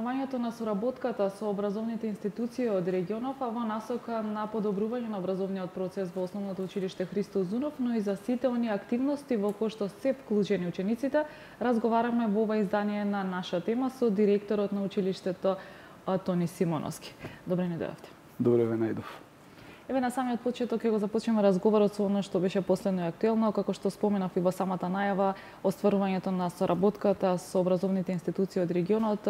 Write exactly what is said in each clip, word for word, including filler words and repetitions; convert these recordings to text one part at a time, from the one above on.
остварувањето на соработката со образовните институции од регионов, а во насока на подобрување на образовниот процес во Основното училиште Христо Узунов, но и за сите оние активности во кои што се вклучени учениците, разговараме во ова издание на наша тема со директорот на училиштето Тони Симоновски. Добре ни дојавте. Добре ве најдов. Еве на самиот почеток ќе го започнеме разговорот со она што беше последно и актуелно, како што споменав и во самата најава, остварувањето на соработката со образовните институции од регионот.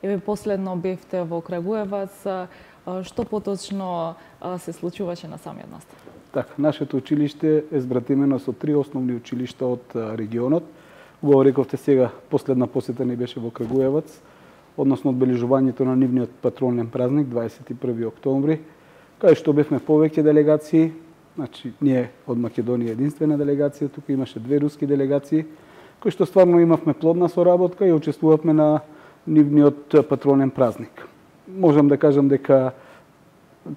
Еве последно бевте во Крагуевац. Што поточно се случуваше на самиот настав? Така, нашето училиште е збратимено со три основни училишта од регионот. Го рековте сега, последна посета ни беше во Крагуевац, односно одбележувањето на нивниот патронен празник дваесет и први октомври. Кај што бевме повеќе делегации, значи ние од Македонија единствена делегација, тука имаше две руски делегации, кои што стварно имавме плодна соработка и учествувавме на нивниот патронен празник. Можам да кажам дека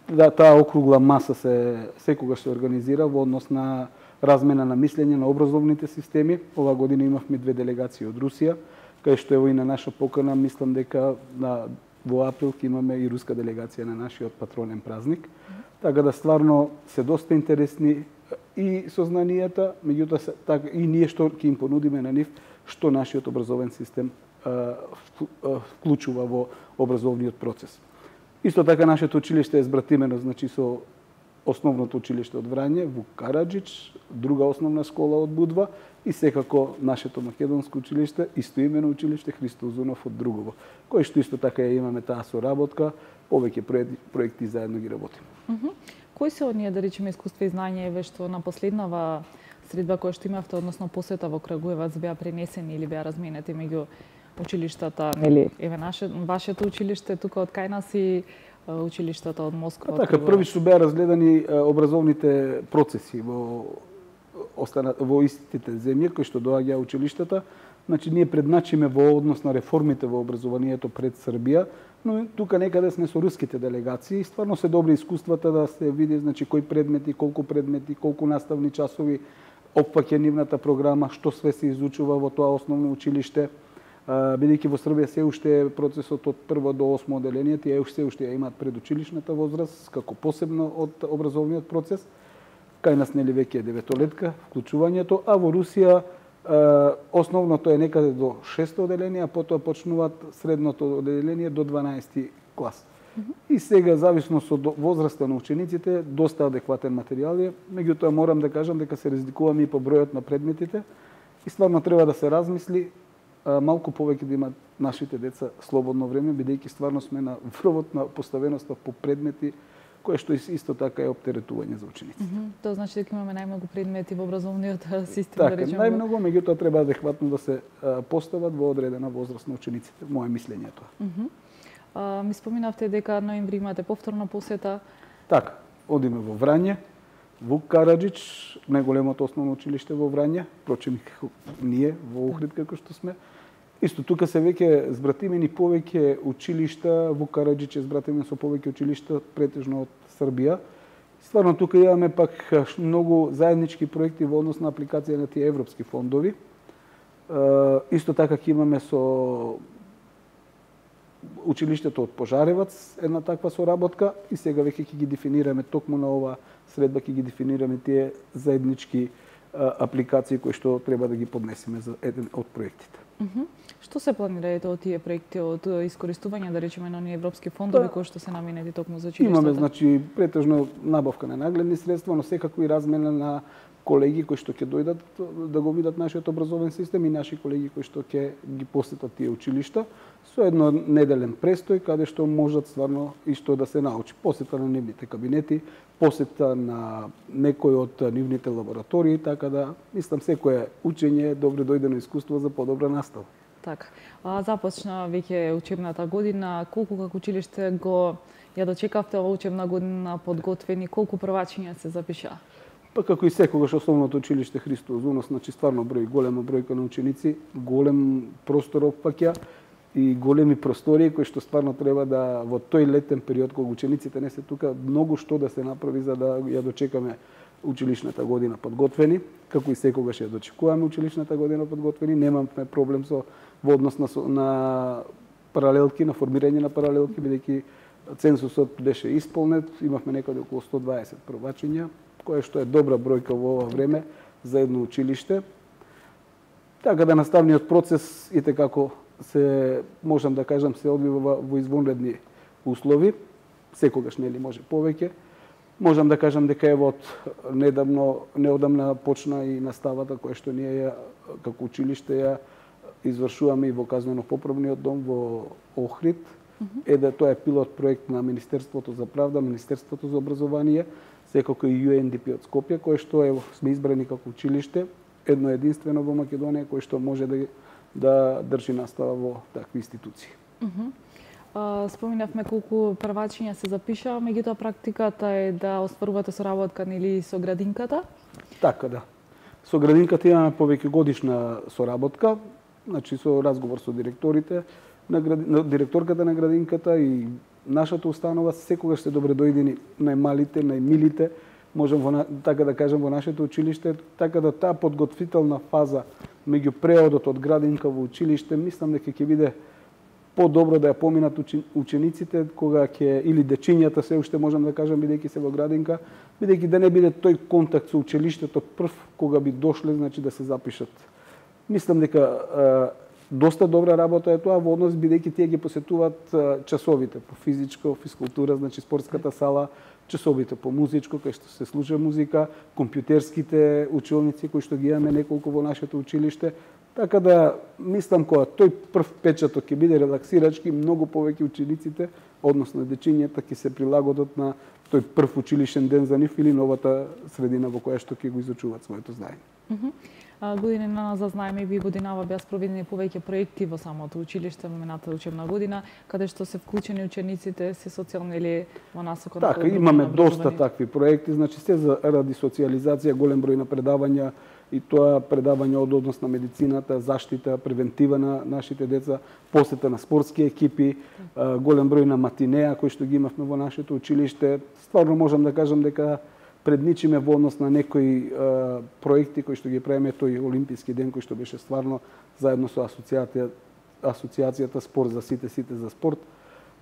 да, таа округла маса се секогаш се организира во однос на размена на мислење на образовните системи. Ова година имавме две делегации од Русија, кај што ево и на наша покана, мислам дека на во април ќе имаме и руска делегација на нашиот патронен празник. Така да стварно се доста интересни и сознанијата, меѓутоа така и ние што ќе им понудиме на нив што нашиот образовен систем вклучува во образовниот процес. Исто така нашето училиште е збратимено, значи со Основното училиште од Врање, Вук Караџич, друга основна школа од Будва и секако нашето македонско училиште, истоимено училиште Христо Узунов од Другово, кој што исто така ја имаме таа соработка, повеќе проекти заедно ги работиме. Uh -huh. Кои се оние, да речеме, искуства и знања еве што на последнава средба која што имавте, односно посета во Крагуевац, беа пренесени или беа разменети меѓу училиштата, нели, еве наше вашето училиште тука од кај нас и училиштата од Москва? А така, први што беа разгледани образовните процеси во остана во истите земји кои што доаѓаа училиштата. Значи ние предначиме во однос на реформите во образованието пред Србија, но тука некаде сме со руските делегации. Стварно се добри искуствата да се види, значи кои предмети, колку предмети, колку наставни часови опфаќа нивната програма, што све се изучува во тоа основно училиште. Бидејќи во Србија се уште е процесот од прво до осмо оделение, тие уште уште ја имаат предучилишната возраст како посебно од образовниот процес. Кај нас нели веќе е деветолетка вклучувањето, а во Русија основното е некаде до шесто оделение, а потоа почнуваат средното оделение до дванаести клас. Mm -hmm. И сега, зависно со возраста на учениците, доста адекватен материјал е, меѓутоа морам да кажам дека се разликуваме и по бројот на предметите и стварно треба да се размисли малку повеќе да имаат нашите деца слободно време, бидејќи стварно сме на врвот на поставеноста по предмети, кое што исто така е оптеретување за учениците. Mm -hmm. Тоа значи дека имаме најмногу предмети во образовниот систем, така, да речеме. Најмногу, меѓутоа треба адекватно да се постават во одредена возраст на учениците. Моје мислење е тоа. Mm -hmm. а, ми споминавте дека ноември имате повторна посета. Така, одиме во Врање, Вук Караџич, најголемото основно училиште во Врање, впрочем ние во Охрид како што сме. Исто тука се веќе збратимени повеќе училишта, Вук Караџич е збратимен со повеќе училишта, претежно од Србија. Стварно тука имаме пак многу заеднички проекти во однос на апликација на тие европски фондови. Исто така ќе имаме со училиштето од Пожаревац една таква соработка и сега веќе ќе ги дефинираме токму на ова средба, ќе ги дефинираме тие заеднички апликации кои што треба да ги поднесеме за еден од проектите. Uh -huh. Што се планираете од тие проекти, од искористување, да речеме, на оние европски фондови да, кои што се наменети токму за училиштата? Имаме, значи, претежно набавка на нагледни средства, но секако и размена на колеги кои што ќе дојдат да го видат нашиот образовен систем и наши колеги кои што ќе ги посетат тие училишта со едно неделен престој каде што можат стварно и што да се научи. Посета на нивните кабинети, посета на некој од нивните лаборатории, така да мислам секое учење е добро дојдено искуство за подобра настава. Така. А започна веќе учебната година, колку како училиште го ја дочекавте оваа учебна година подготвени, колку првачиња се запиша? Па како и секогаш основното училиште Христо Узунов, значи стварно број, голема бројка на ученици, голем простор опфаќа и големи простории кои што стварно треба да во тој летен период кога учениците не се тука, многу што да се направи за да ја дочекаме училишната година подготвени, како и секогаш ја дочекуваме училишната година подготвени, немаме проблем со во однос на, на паралелки, на формирање на паралелки, бидејќи цензусот беше исполнет, имавме некаде околу сто дваесет првачења, кое што е добра бројка во ова време за едно училиште. Така да наставниот процес и како се, можам да кажам, се одвива во извонредни услови, секогаш нели може повеќе. Можам да кажам дека ево од недавно, неодамна почна и наставата која што ние ја, како училиште ја извршуваме и во казнено-поправниот дом во Охрид. Mm-hmm. Е да тоа е пилот проект на Министерството за правда, Министерството за образование, секако и Ю Ен Ди Пи од Скопје, кој што е сме избрани како училиште, едно единствено во Македонија кој што може да да држи настава во такви институции. Mm-hmm. Uh, споминавме колку првачиња се запишаа, меѓутоа практиката е да остварувате соработка нели со градинката? Така да. Со градинката имаме повеќе годишна соработка, значи со разговор со директорите, на, гради... на директорката на градинката и нашата установа секогаш се добре дојдени најмалите, најмилите, можам во, така да кажам, во нашето училиште, така да таа подготвителна фаза меѓу преодот од градинка во училиште, мислам дека ќе биде по-добро да ја поминат учениците кога ќе, или дечињата се уште можам да кажам, бидејќи се во градинка, бидејќи да не биде тој контакт со училиштето прв кога би дошле, значи да се запишат. Мислам дека е, доста добра работа е тоа во однос, бидејќи тие ги посетуваат е, часовите по физичко, физкултура, значи спортската сала, часовите по музичко, кај што се слуша музика, компјутерските училници кои што ги имаме неколку во нашето училиште. Така да, мислам, кога тој прв печаток ќе биде релаксирачки, многу повеќе учениците, односно дечињата, ќе се прилагодат на тој прв училишен ден за нив или новата средина во која што ќе го изучуваат своето знаење. Mm -hmm. Годинина за знаеме и годинава беа спроведени повеќе проекти во самото училиште во минатата учебна година, каде што се вклучени учениците, се социјално или во насока на така, имаме доста такви проекти, значи се за ради социјализација, голем број на предавања, и тоа предавање од однос на медицината, заштита, превентива на нашите деца, посета на спортски екипи, голем број на матинеа кои што ги имавме во нашето училиште. Стварно можам да кажам дека предничиме во однос на некои а, проекти кои што ги правиме, тој Олимписки ден кој што беше стварно заедно со асоциацијата, асоциацијата Спорт за сите, сите за спорт.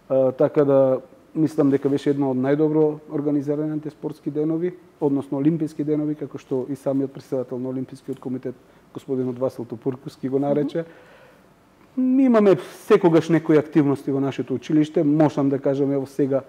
А, така да мислам дека беше една од најдобро организираните спортски денови, односно Олимписки денови, како што и самиот претседател на Олимпискиот комитет, господинот Васил Топурковски, го нарече. Mm -hmm. Имаме секогаш некои активности во нашето училиште, можам да кажам ево сега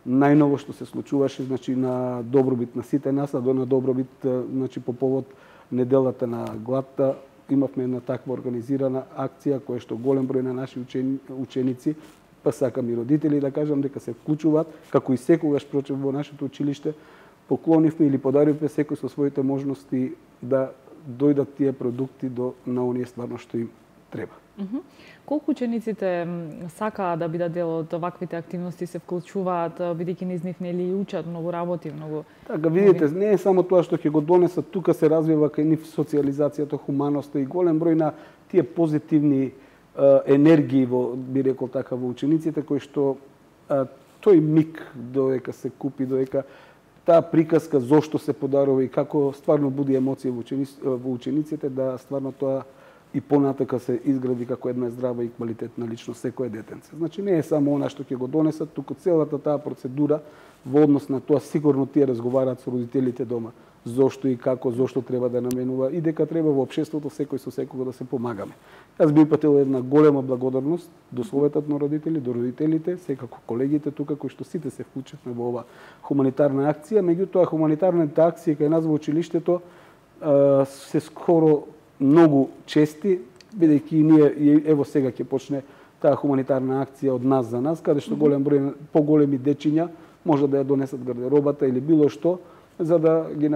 најново што се случуваше, значи на добробит на сите нас, а до на добробит, значи по повод неделата на гладта, имавме една таква организирана акција која што голем број на наши учени, ученици, па сакам и родители да кажам дека се вклучуваат, како и секогаш прочем во нашето училиште, поклонивме или подаривме секој со своите можности да дојдат тие продукти до на оние стварно што им треба. Mm -hmm. Колку учениците сакаат да бидат дел од оваквите активности, се вклучуваат, бидејќи низ нив нели учат многу работи, многу. Така, видите, не е само тоа што ќе го донесат, тука се развива кај нив социјализацијата, хуманоста и голем број на тие позитивни е, енергии во, би рекол така, во учениците, кои што е, тој миг додека се купи, додека таа приказка зошто се подарува и како стварно буди емоции во, ученици, во учениците, да стварно тоа и понатака се изгради како една здрава и квалитетна личност секое детенце. Значи не е само она што ќе го донесат, туку целата таа процедура во однос на тоа сигурно тие разговараат со родителите дома. Зошто и како, зошто треба да наменува и дека треба во општеството секој со секого да се помагаме. Јас би упатил една голема благодарност до советот на родители, до родителите, секако колегите тука кои што сите се вклучивме во ова хуманитарна акција, меѓутоа хуманитарната акција кај нас во училиштето се скоро многу чести, бидејќи ние ево сега ќе почне таа хуманитарна акција од нас за нас, каде што голем број поголеми дечиња може да ја донесат гардеробата или било што, за да ги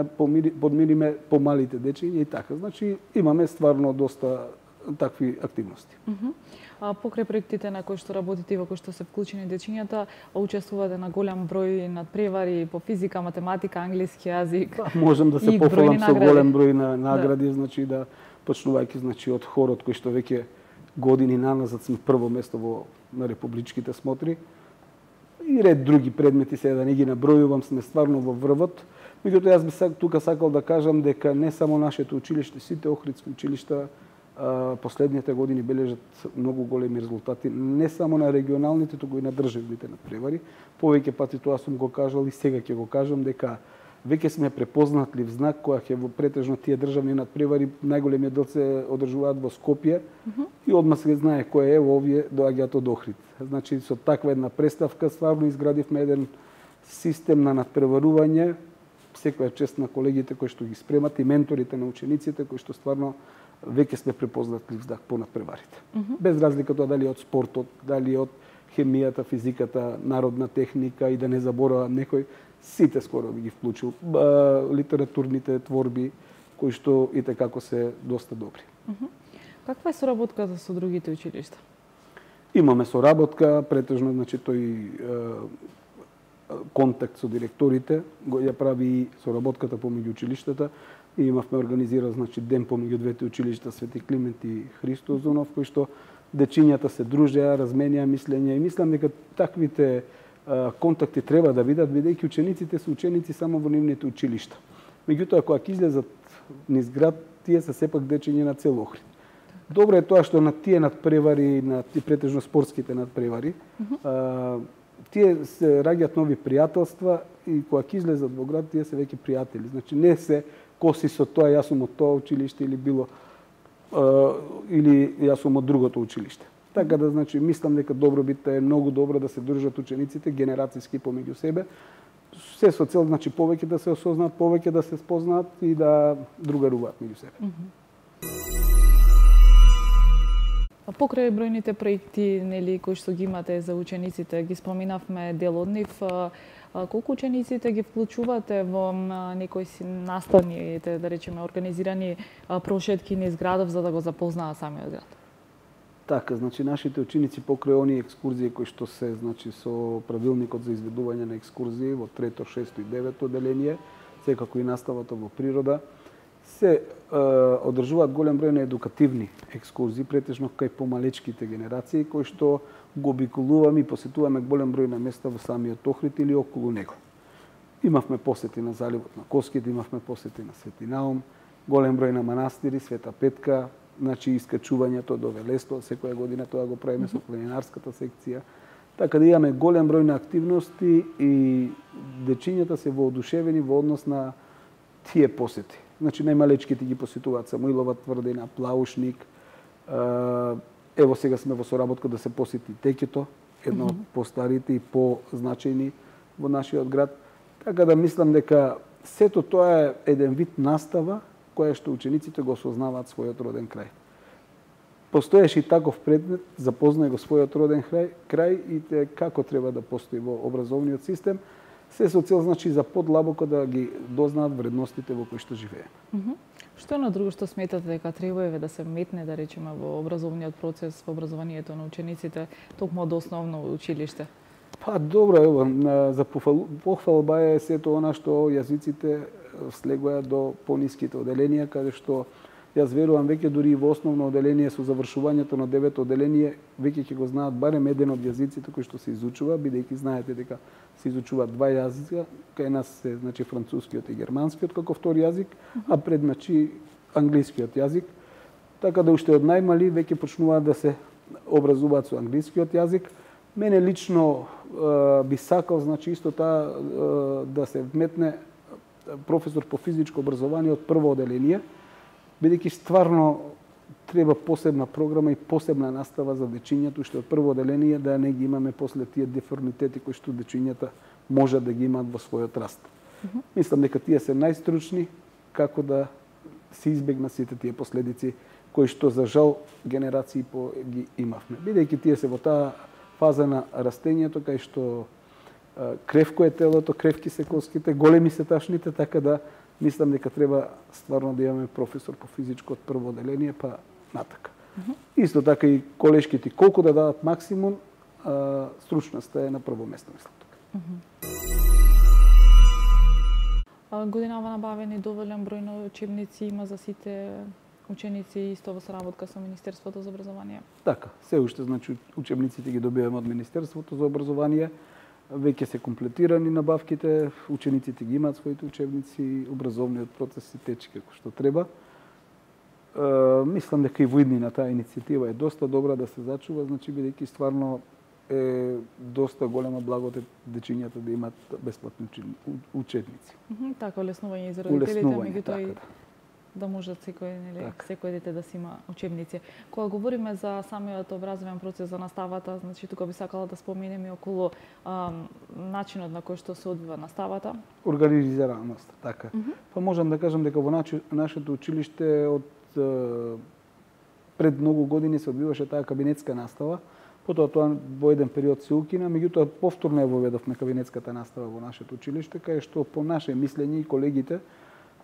подмириме помалите дечиња и така. Значи имаме стварно доста такви активности. Mm -hmm. А покрај проектите на кои што работите и во кои што се вклучени дечињата, учествувате на голем број надпревари по физика, математика, англиски јазик. Да, можам да се пофалам со голем број на награди, да. Значи да почнувајќи значи од хорот кој што веќе години наназад сме прво место во на републичките смотри. И ред други предмети, сега да не ги набројувам, сме стварно во врвот. Меѓутоа јас би тука сакал да кажам дека не само нашето училиште, сите охридски училишта последните години бележат многу големи резултати, не само на регионалните, туку и на државните надпревари. Повеќе пати тоа сум го кажал и сега ќе го кажам, дека веќе сме препознатлив знак која ќе во претежно тие државни надпревари најголемиот дел се одржуваат во Скопје mm -hmm. и одма се знае кој е, овие доаѓаат од Охрид. Значи со таква една представка стварно изградивме еден систем на надпреварување. Секоја чест на колегите кои што ги спремат и менторите на учениците кои што стварно веќе сме препознатлив знак по надпреварите. Mm -hmm. Без разлика тоа дали од спортот, дали од хемијата, физиката, народна техника и да не заборава некој, сите скоро би ги вклучил. Литературните творби кои што и како се доста добри. Mm -hmm. Каква е соработката со другите училишта? Имаме соработка, претежно значи тој контакт со директорите го ја прави и соработката помеѓу училиштата. И имавме организиран значи ден помеѓу двете училишта Свети Климент и Христо Озунов, кој што дечињата се дружеа, разменеа мислења и мислам дека таквите а, контакти треба да бидат, бидејќи учениците се ученици само во нивните училишта. Меѓутоа кога ќе излезат низ град, тие се сепак дечиња на цел Охрид. Добро е тоа што на тие надпревари, на тие претежно спортските надпревари, mm -hmm. а, тие се раѓаат нови пријателства и кога ќе излезат во град, тие се веќе пријатели. Значи не се коси со тоа, јас сум од тоа училиште или било uh, или јас сум од другото училиште. Така да, значи, мислам дека добробитта е многу добро да се држат учениците генерацијски помеѓу себе, се со цел, значи, повеќе да се осознаат, повеќе да се спознаат и да другаруваат меѓу себе. Mm -hmm. Покрај бројните проекти, нели, кои што ги имате за учениците, ги споминавме дел од нив, колку учениците ги вклучувате во некои наставни, да речеме, организирани прошетки низ градов за да го запознаат самиот град? Така, значи нашите ученици покрај оние екскурзии кои што се, значи, со правилникот за изведување на екскурзии во трето, шесто и девето одделение, секако и наставата во природа, се е, одржуваат голем број на едукативни екскурзии, претежно кај помалечките генерации, кои што го обиколуваме и посетуваме голем број на места во самиот Охрид или околу него. Имавме посети на заливот на Коските, имавме посети на Свети Наум, голем број на манастири, Света Петка, значи искачувањето до Велесто, секоја година тоа го правиме со планинарската секција. Така да имаме голем број на активности и дечињата се воодушевени во однос на тие посети. Значи, најмалечките ги посетуваат Самуилова тврдина, Плаушник. Ево сега сме во соработка да се посети Текето, едно од постарите и позначајни во нашиот град. Така да мислам дека сето тоа е еден вид настава која што учениците го осознаваат својот роден крај. Постоеше и таков предмет, запознај го својот роден крај, крај и те како треба да постои во образовниот систем, се со цел, значи, за подлабоко да ги дознаат вредностите во кои што живееме. Mm -hmm. Што е на друго што сметате дека треба да се метне, да речеме, во образовниот процес, во образованието на учениците, токму од основно училиште? Па добро, ево, за похвалба е сето она што јазиците слегуваат до пониските одделенија, каде што јас верувам веќе дури и во основно одделение со завршувањето на девето одделение веќе ќе го знаат барем еден од јазиците кои што се изучува, бидејќи знаете дека се изучуваат два јазика, кај нас се, значи, францускиот и германскиот како втори јазик, а пред, значи, англискиот јазик. Така да уште од најмали веќе почнуваат да се образуваат со англискиот јазик. Мене лично е, би сакал, значи, исто таа е, да се вметне професор по физичко образование од прво одделение, бидејќи стварно треба посебна програма и посебна настава за дечињата, што од прво одделение да не ги имаме после тие деформитети кои што дечињата можат да ги имаат во својот раст. Mm -hmm. Мислам дека тие се најстручни како да се избегнат сите тие последици кои што за жал генерации по ги имавме. Бидејќи тие се во таа фаза на растењето кај што кревко е телото, кревки се коските, големи се ташните, така да мислам дека треба стварно да имаме професор по физичко од прво одделение, па натака. Mm -hmm. Исто така и колешките, колку да дадат максимум, а, стручноста е на прво место, мислам тука. Mm -hmm. Годинава набавени доволен број на учебници има за сите ученици исто во соработка со Министерството за образование? Така, се уште, значи, учебниците ги добиваме од Министерството за образование. Веќе се комплетирани набавките, учениците ги имаат своите учебници, образовниот процес се тече како што треба. мислам дека и во иднина таа иницијатива е доста добра да се зачува, значи бидејќи стварно е доста голема благодет дечињата да имат бесплатни учебници. Mm -hmm, така, улеснување и за родителите, меѓутоа така, и да. да можат секој, нели, така. секој дете да си има учебници. Кога говориме за самиот образовен процес за наставата, значи тука би сакала да споменеме околу ам, начинот на кој што се одвива наставата. Организираност, така. Mm -hmm. Па можам да кажам дека во нашето училиште од пред многу години се одвиваше таа кабинетска настава. Потоа тоа во еден период се укина, меѓутоа повторно ја воведовме кабинетската настава во нашето училиште, кај што по наше мислење и колегите,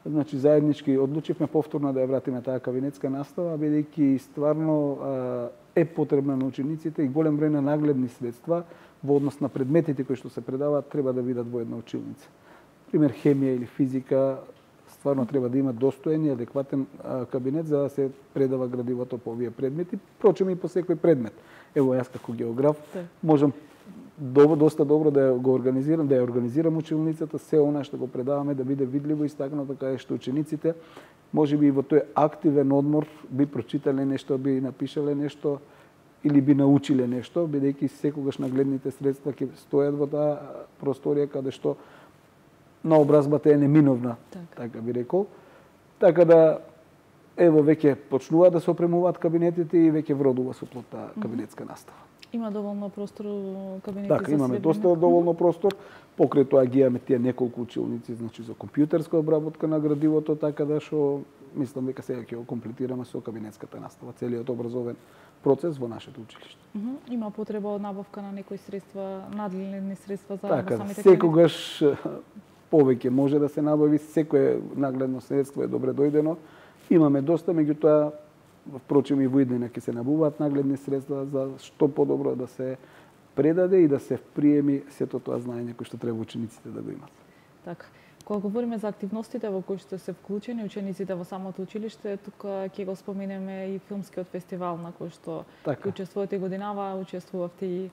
значи заеднички одлучивме повторно да ја вратиме таа кабинетска настава, бидејќи стварно е потребна на учениците и голем број на нагледни средства во однос на предметите кои што се предаваат треба да видат во една училница. Пример хемија или физика, стварно треба да има достоен и адекватен кабинет за да се предава градивото по овие предмети, впрочем и по секој предмет. Ево јас како географ можам доста добро да го организирам, да ја организирам училницата, се она што го предаваме да биде видливо истакнато, каде што учениците можеби и во тој активен одмор би прочитале нешто, би напишале нешто или би научиле нешто, бидејќи секогаш нагледните средства ќе стојат во таа просторија каде што наобразбата е неминовна, така, така би рекол. Така да, ево, веќе почнува да се опремуваат кабинетите и веќе вродува со плотта кабинетска настава. Има доволно простор кабинети така, за имаме следење? Доста доволно простор. Покрај тоа ги имаме тие неколку училници, значи за компјутерска обработка на градивото, така да што мислам дека сега ќе го комплетираме со кабинетската настава, целиот образовен процес во нашето училиште. Mm -hmm. Има потреба од набавка на некои средства, надледни средства за така, самите секогаш повеќе може да се набави, секое нагледно средство е добре дојдено. Имаме доста, меѓутоа, впрочем и во иднина ќе се набуваат нагледни средства за што подобро да се предаде и да се приеми сето тоа знаење кој што треба учениците да го имат. Така. Кога говориме за активностите во кои што се вклучени учениците во самото училиште, тука ќе го споменеме и филмскиот фестивал на кој што така. Учествувате годинава, учествувавте и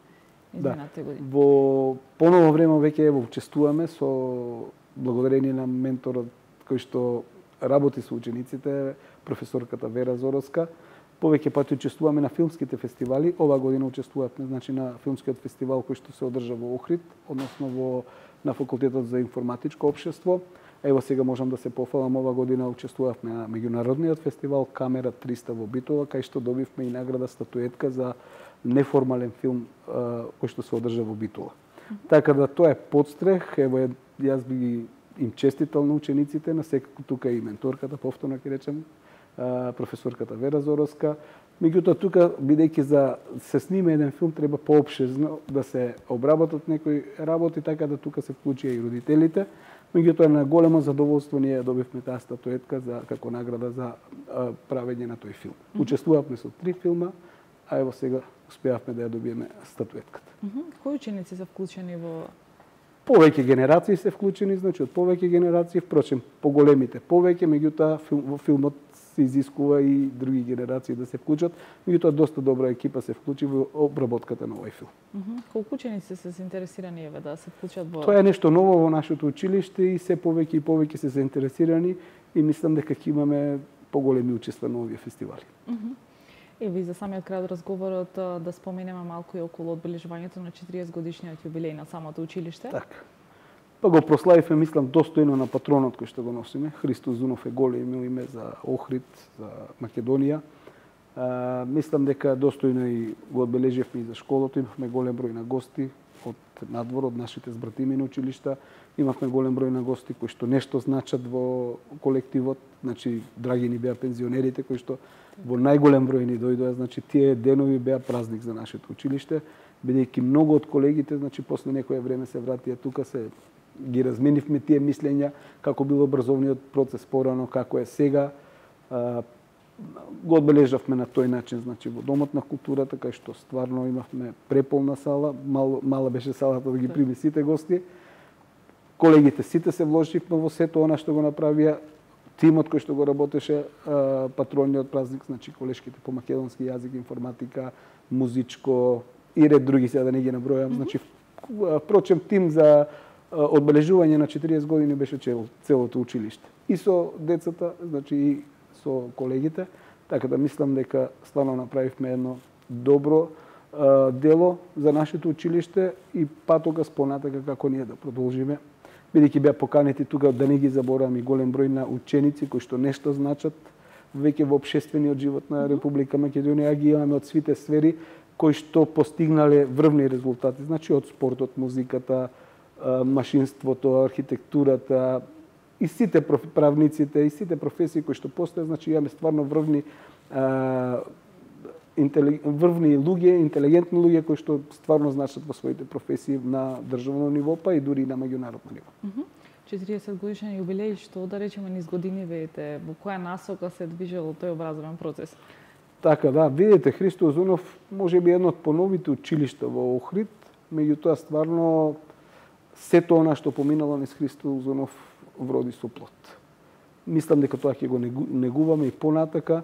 изминатите да. години. Во поново време веќе ево учествуваме со благодарение на менторот кој што работи со учениците, професорката Вера Зороска. Повеќе пати учествуваме на филмските фестивали. Ова година учествувавме значи на филмскиот фестивал кој што се одржа во Охрид, односно во на факултетот за информатичко општество. Ево сега можам да се пофалам, ова година учествувавме на меѓународниот фестивал Камера триста во Битола, кај што добивме и награда статуетка за неформален филм кој што се одржа во Битола. Mm -hmm. Така да тоа е подстрех, ево јас би им честитал на учениците, на секако тука и менторката, повторно ќе речем, професорката Вера Зороска. Меѓутоа тука, бидејќи за се снима еден филм, треба поопшезно да се обработат некои работи, така да тука се вклучија и родителите. Меѓутоа на големо задоволство ние добивме таа статуетка за како награда за а, правење на тој филм. Mm -hmm. Учествувавме со три филма, а ево сега успеавме да ја добиеме статуетката. Mm -hmm. Кои ученици се вклучени во Повеќе генерации се вклучени, значи од повеќе генерации, впрочем, поголемите повеќе, меѓутоа во филмот се изискува и други генерации да се вклучат, меѓутоа доста добра екипа се вклучи во обработката на овој филм. Mm -hmm. Колку ученици се заинтересирани еве да се вклучат во Тоа е нешто ново во нашето училиште и се повеќе и повеќе се заинтересирани и мислам дека ќе имаме поголеми учества на овие фестивали. Mm -hmm. Ево и за самиот крај од разговорот да споменеме малку и околу одбележувањето на четириесет годишниот јубилеј на самото училиште. Така. Па го прославивме, мислам, достојно на патронот кој што го носиме. Христо Зунов е големо име за Охрид, за Македонија. А, мислам дека достојно и го одбележивме и за школото. Имавме голем број на гости од надвор, од нашите збратими на училишта. Имавме голем број на гости кои што нешто значат во колективот. Значи, драги ни беа пензионерите кои што во најголем број ни дојдоа, значи тие денови беа празник за нашето училиште, бидејќи многу од колегите, значи после некое време се вратија тука, се ги разменивме тие мислења како бил образовниот процес порано, како е сега. А, го одбележавме на тој начин, значи во Домот на културата, кај што стварно имавме преполна сала, мал, мала беше салата да ги прими сите гости. Колегите сите се вложивме во сето она што го направија. Тимот кој што го работеше патрониот празник, значи колешките по македонски јазик, информатика, музичко и ред други, сега да не ги набројам. Mm -hmm. Значи, впрочем, тим за одбележување на четириесет години беше целото училиште. И со децата, значи и со колегите. Така да мислам дека стварно направивме едно добро а, дело за нашето училиште и патокас понатака како ние да продолжиме. Бидејќи беа поканети тука, да не ги забораваме, голем број на ученици кои што нешто значат веќе во општествениот живот на Република Македонија, ги имаме од свите сфери кои што постигнале врвни резултати. Значи од спортот, музиката, машинството, архитектурата, и сите правниците, и сите професии кои што постојат, значи имаме стварно врвни а, интели... врвни луѓе, интелигентни луѓе кои што стварно значат во своите професии на државно ниво, па и дури и на меѓународно ниво. четириесет годишен јубилеј, што да речеме низ години видите, во која насока се движел тој образовен процес? Така да, видите, Христо Озунов може би едно од поновите училишта во Охрид, меѓутоа стварно сето она што поминало низ Христо Озунов вроди со плод. Мислам дека тоа ќе го негуваме и понатака.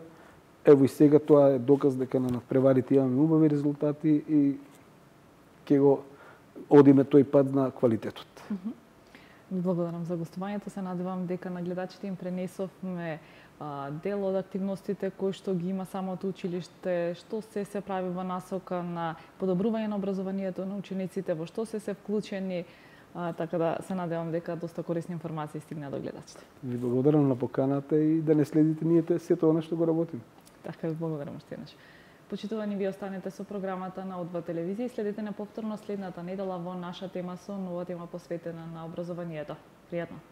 Ево и сега тоа е доказ дека на надпреварите имаме убави резултати и ќе го одиме тој пат на квалитетот. Ви благодарам за гостувањето. Се надевам дека на гледачите им пренесовме а, дел од активностите кои што ги има самото училиште, што се се прави во насока на подобрување на образованието на учениците, во што се се вклучени. А, така да се надевам дека доста корисни информации стигна до гледачите. Ви благодарам на поканата и да не следите ние сето она што го работиме. Така ви благодарам уште еднаш. Почитувани, ви останете со програмата на О два телевизија и следете на повторно следната недела во наша тема со нова тема посветена на образованието. Пријатно!